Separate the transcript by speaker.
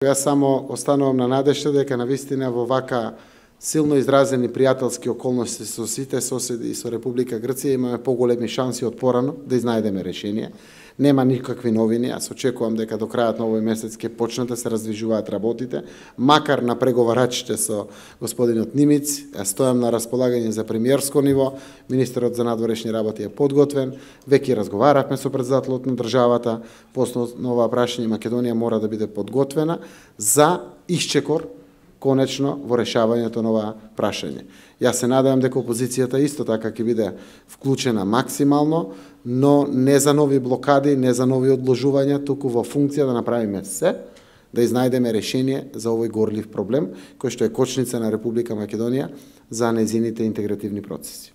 Speaker 1: Јас само останувам на надежда дека навистина во вака силно изразени пријателски околности со сите соседи и со Република Грција имаме поголеми шанси од порано да изнајдеме решение. Нема никакви новини, јас очекувам дека до крајот на овој месец ќе почнат да се раздвижуваат работите, макар на преговарачите со господинот Нимиц, јас стојам на располагање за премиерско ниво, министерот за надворешни работи е подготвен, веќе разговаравме со претседателот на државата, по основа оваа прашање Македонија мора да биде подготвена за исчекор конечно во решавањето на ова прашање. Јас се надевам дека опозицијата исто така ќе биде вклучена максимално, но не за нови блокади, не за нови одложувања, туку во функција да направиме се, да изнајдеме решение за овој горлив проблем, кој што е кочница на Република Македонија за нејзините интегративни процеси.